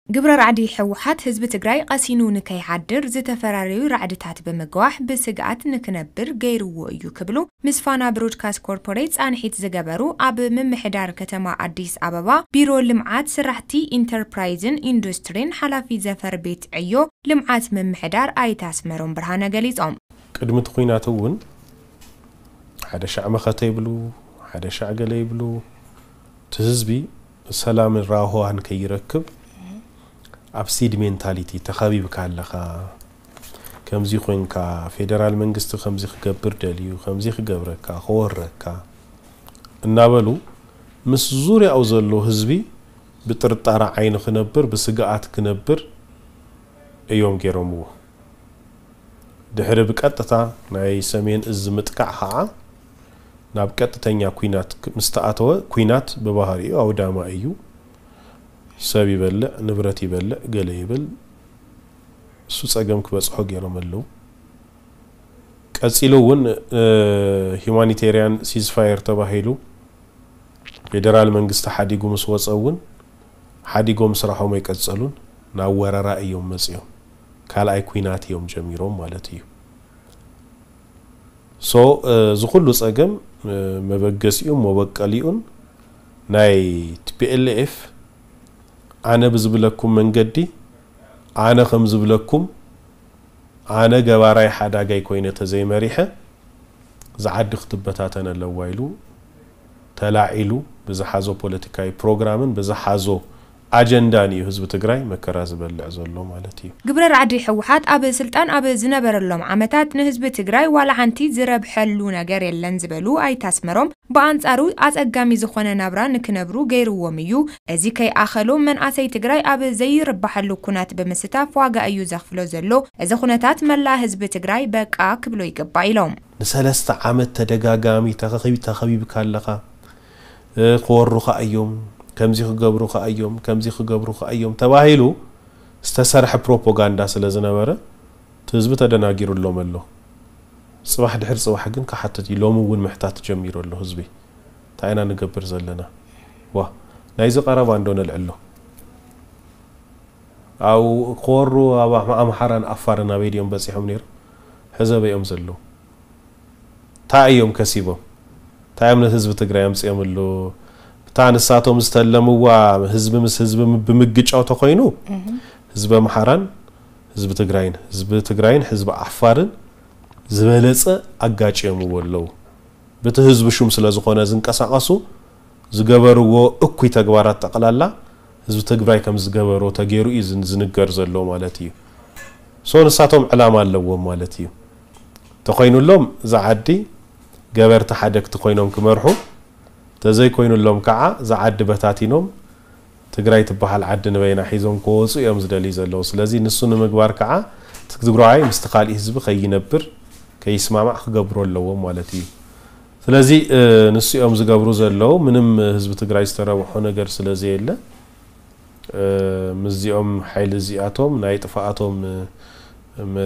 ግብረ ራዕዲ ህወሓት ህዝቢ ትግራይ ቀሲኑ ንከይሓድር ዝተፈራረዩ ራዕድታት ብምግዋሕ ብስግኣት ንክነብር ገይርዎ እዩ ክብሉ ምስ ፋና ብሮድካስት ኮርፖሬት ፃንሒት ዝገበሩ ኣብ ምምሕዳር ከተማ ኣዲስ ኣበባ ቢሮ ልምዓት ስራሕቲ ኢንተርፕራይዝን ኢንዱስትሪን ሓላፊ ዘፈር ቤት ዕዮ ልምዓት ምምሕዳር ኣይተ ኣስመሮም ብርሃነ ገሊፆም። ቅድሚ እቲ ኲናት እውን ሓደ ሻዕ መኸተ ይብሉ፣ ሓደ ሻዕ ገለ ይብሉ። እቲ ህዝቢ ሰላምን ራህዋን ከይረክብ ኣብ ሲድ ሜንታሊቲ ተኸቢብካ ኣለኻ፣ ከምዚ ኮንካ፣ ፌደራል መንግስቲ ከምዚ ክገብር ደልዩ፣ ከምዚ ክገብረካ፣ ክወረካ እናበሉ ምስ ዙርያኡ ዘሎ ህዝቢ ብጥርጣረ ዓይኒ ክነብር፣ ብስግኣት ክነብር እዮም ገይሮምዎ። ድሕሪ ብቀጥታ ናይ ሰሜን እዝ ምጥቃዕ ኸዓ ናብ ቀጥተኛ ኲናት ክ-፣ ምስ ተኣተወ፣ ኲናት ብባህሪኡ ኣውዳማይ እዩ። ሰብ ይበልዕ፣ ንብረት ይበልዕ፣ ገለ ይብል። እሱ ጸገም ክበጽሖ ገይሮም ኣለዉ። ቀጺሉ እውን፣ እ፣ ሂዩማኒቴርያን ሲዝፋየር ተባሂሉ ፌደራል መንግስቲ ሓዲጉ ምስ ወጸ እውን ሓዲጎም ስራሖም ኣይቀጸሉን። ናብ ወረራ እዮም መጺኦም። ካልኣይ ኲናት እዮም ጀሚሮም ማለት እዩ። ሶ፣ እ፣ እዚ ኩሉ ጸገም፣ እ፣ መበገሲኡን መበቀሊኡን ናይ ቲ ፒ ኤል ኤፍ ኣነ ብዝብለኩም መንገዲ፣ ኣነ ከም ዝብለኩም፣ ኣነ ገባራይ ሓዳጋይ ኮይነ ተዘይመሪሐ፣ እዛ ዓዲ ክትበታተን ኣለዋ ኢሉ ተላዒሉ ብዝሓዞ ፖለቲካዊ ፕሮግራምን ብዝሓዞ ኣጀንዳን እዩ ህዝቢ ትግራይ መከራ ዝበልዕ ዘሎ ማለት እዩ። ግብረ ራዕዲ ህወሓት ኣብ ስልጣን ኣብ ዝነበረሎም ዓመታት ንህዝቢ ትግራይ ዋላ ሓንቲ ዝረብሐሉ ነገር የለን ዝበሉ ኣይተ ኣስመሮም፣ ብኣንጻሩ ኣጸጋሚ ዝኾነ ናብራ ንክነብሩ ገይርዎም እዩ። እዚ ከይኣኸሎም መናእሰይ ትግራይ ኣብ ዘይርባሐሉ ኩናት ብምስታፍ ዋጋ እዩ ዘኽፍሎ ዘሎ። እዚ ኩነታት መላእ ህዝቢ ትግራይ በቃ ክብሎ ይግባእ ኢሎም። ንሰለስተ ዓመት ተደጋጋሚ ተኸኺብ-፣ ተኸቢብካ ኣለኻ፣ እ፣ ክወሩኻ እዮም፣ ከምዚ ክገብሩኻ እዮም፣ ከምዚ ክገብሩኻ እዮም ተባሂሉ ዝተሰርሐ ፕሮፓጋንዳ ስለ ዝነበረ፣ እቲ ህዝቢ ተደናጊሩሎም ኣሎ። ጽባሕ ድሕሪ ጽባሕ ግን ክሓትት እዩ። ሎሚ እውን ምሕታት ጀሚሩ ኣሎ ህዝቢ። እንታይ ኢና ንገብር ዘለና? ዋ፣ ናይዚ ቀረባ እንዶ ነልዕሎ። ኣብ ክወሩ ኣብ ኣም-፣ ኣምሓራን ኣፋርን ኣበይ ድዮም በጺሖም ነይሮም? ሕዚ ኣበይ እዮም ዘለዉ? እንታይ እዮም ከሲቦም? እንታይ እዮም ነቲ ህዝቢ ትግራይ ኣምጺኦምሉ? እታ ንሳቶም ዝተለምዋ ህዝቢ ምስ ህዝቢ ም-፣ ብምግጫው ተኾይኑ፣ እህ። ህዝቢ ኣምሓራን ህዝቢ ትግራይን፣ ህዝቢ ትግራይን ህዝቢ ዓፋርን ዝበለጸ ኣጋጭዮምዎ ኣለዉ። በቲ ህዝቢ ሹም ስለ ዝኾነ ዝንቀሳቐሱ፣ ዝገበርዎ እኩይ ተግባራት ጠቕላላ ህዝቢ ትግራይ ከም ዝገበሮ ተገይሩ እዩ ዝን-፣ ዝንገር ዘሎ ማለት እዩ። ሶ ንሳቶም ዕላማ ኣለዎም ማለት እዩ። ተኾይኑሎም እዛ ዓዲ ገበርቲ ሓደግቲ ኮይኖም ክመርሑ፣ ተዘይኮይኑሎም ከዓ እዛ ዓዲ በታቲኖም ትግራይ ትበሃል ዓዲ ንበይና ሒዞም ክወፁ እዮም ዝደልዩ ዘለዉ። ስለዚ ንሱ ንምግባር ከዓ እቲ ትግራዋይ ምስቲ ካሊእ ህዝቢ ከይነብር፣ ከይስማማዕ ክገብሩ ኣለዎም ማለት እዩ። ስለዚ፣ እ፣ ንሱ እዮም ዝገብሩ ዘለዉ። ምንም ህዝቢ ትግራይ ዝተረብሖ ነገር ስለ ዘየለ፣ እ፣ ምስዚኦም ሓይሊ እዚኣቶም ናይ ጥፍኣቶም፣ እ፣ ም-፣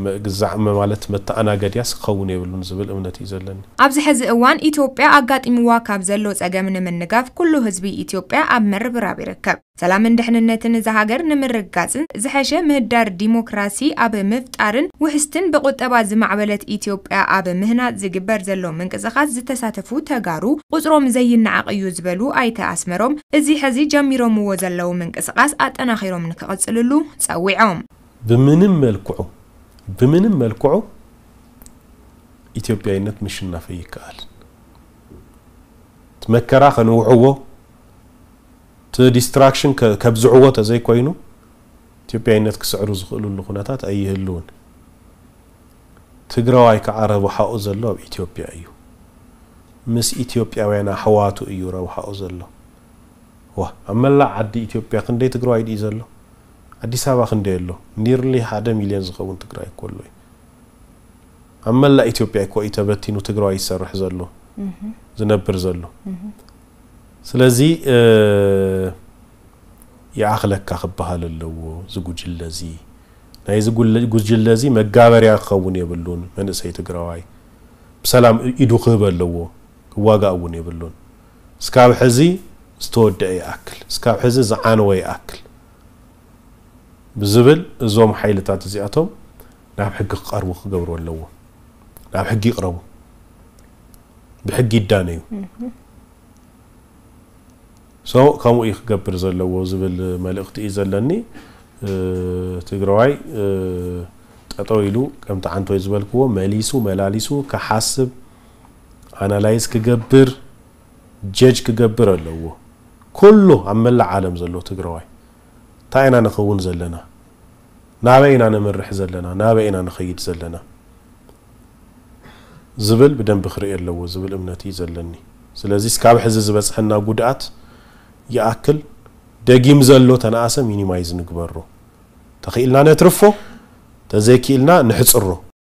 ምግዛዕ ም-፣ ማለት መተኣናገድያስ ክኸውን የብሉን ዝብል እምነት እዩ ዘለኒ። ኣብዚ ሕዚ እዋን ኢትዮጵያ ኣጋጢምዋ ካብ ዘሎ ጸገም ንምንጋፍ ኩሉ ህዝቢ ኢትዮጵያ ኣብ ምርብራብ ይርከብ። ሰላምን ድሕንነትን እዛ ሃገር ንምርግጋጽን ዝሐሸ ምህዳር ዲሞክራሲ ኣብ ምፍጣርን ውሕስትን ብቁጠባ ዝማዕበለት ኢትዮጵያ ኣብ ምህናጽ ዝግበር ዘሎ ምንቅስቓስ ዝተሳተፉ ተጋሩ ቁጽሮም ዘይነዓቕ እዩ ዝበሉ ኣይተ ኣስመሮም፣ እዚ ሕዚ ጀሚሮምዎ ዘለዉ ምንቅስቓስ ኣጠናኺሮም ንክቕጽልሉ ጸዊዖም። ብምንም መልክዑ፣ ብምንም መልክዑ ኢትዮጵያዊነት ምሽናፍ ኣይከኣልን። እቲ መከራ ከንውሕዎ፣ እቲ ዲስትራክሽን ከ-፣ ከብዝሕዎ ተዘይኮይኑ፣ ኢትዮጵያዊነት ክስዕሩ ዝኽእሉሉ ኩነታት ኣይህልውን። ትግራዋይ ከዓ ረብሓኡ ዘሎ ኣብ ኢትዮጵያ እዩ። ምስ ኢትዮጵያውያን ኣሕዋቱ እዩ ረብሓኡ ዘሎ። ዋ፣ ኣብ መላእ ዓዲ ኢትዮጵያ ክንደይ ትግራዋይ ድዩ ዘሎ? ኣዲስ ኣበባ ክንደይ ኣሎ? ኒርሊ ሓደ ሚልዮን ዝኸውን ትግራይ እኮ ኣሎ እዩ። ኣብ መላእ ኢትዮጵያ እኮ እዩ ተበቲኑ ትግራዋይ ይሰርሕ ዘሎ፣ እህ። ዝነብር ዘሎ። እህ። ስለዚ፣ እ፣ ይኣኽለካ ክበሃል ኣለዎ። እዚ ጉጅለ እዚ፣ ናይ እዚ ጉለ-፣ ጉጅለ እዚ መጋበርያ ክኸውን የብሉን። መንእሰይ ትግራዋይ ብሰላም ኢዱ ክህብ ኣለዎ። ክዋጋእ እውን የብሉን። እስካብ ሕዚ ዝተወደአ ይኣክል፣ እስካብ ሕዚ ዝዓነወ ይኣክል። ብዝብል እዞም ሓይልታት እዚኣቶም ናብ ሕጊ ክቐርቡ ክገብሩ ኣለዎ። ናብ ሕጊ ይቕረቡ፣ ብሕጊ ይዳነዩ። ሶ ከምኡ እዩ ክገብር ዘለዎ ዝብል መልእኽቲ እዩ ዘለኒ። ትግራዋይ ጠጠው ኢሉ ከምቲ ዓንቶይ ዝበልክዎ መሊሱ መላሊሱ ክሓስብ፣ ኣናላይዝ ክገብር፣ ጀጅ ክገብር ኣለዎ። ኩሉ ኣብ መላእ ዓለም ዘሎ ትግራዋይ እንታይ ኢና ንኸውን ዘለና፣ ናበይ ኢና ነምርሕ ዘለና፣ ናበይ ኢና ንኸይድ ዘለና ዝብል ብደንቢ ክርኢ ኣለዎ ዝብል እምነት እዩ ዘለኒ። ስለዚ እስካብ ሕዚ ዝበፅሐና ጉድኣት ይኣክል፣ ደጊም ዘሎ ተነኣሰ ሚኒማይዝ ንግበሮ። ተኽኢልና ነትርፎ፣ ተዘይክኢልና ንሕፅሮ።